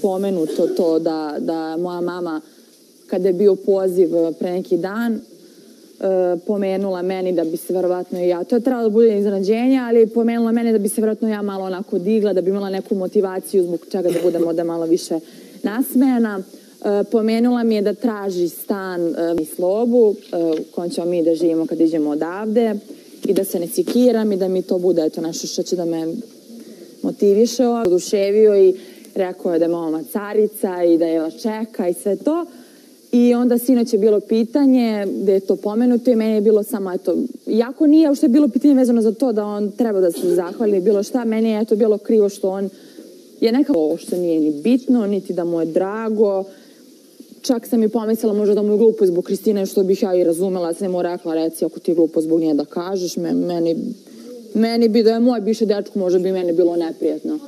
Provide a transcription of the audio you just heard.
pomenuto to da moja mama, kada je bio poziv pre neki dan, pomenula meni da bi se verovatno i ja, to je trebalo da bude iznenađenje, ali pomenula meni da bi se verovatno ja malo onako digla, da bi imala neku motivaciju zbog čega da budem ovde malo više nasmejana. Pomenula mi je da traži stan i slobu u kojem ćemo mi da živimo kad iđemo odavde i da se ne sikiram i da mi to bude nešto što će da me motiviše. Oduševio i rekao je da je mama carica i da je vas čeka i sve to. I onda sinoć je bilo pitanje gde je to pomenuto i meni je bilo samo, eto, iako nije uopšte bilo pitanje vezano za to da on treba da se zahvali bilo šta, meni je bilo krivo što on je nekako ovo što nije ni bitno, niti da mu je drago. Čak sam i pomislila možda da mu je glupo zbog Kristine, što bih ja i razumela, sam mu rekla, reci, ako ti je glupo zbog nje da kažeš, meni bi da je moj bivši dečko, možda bi meni bilo neprijatno.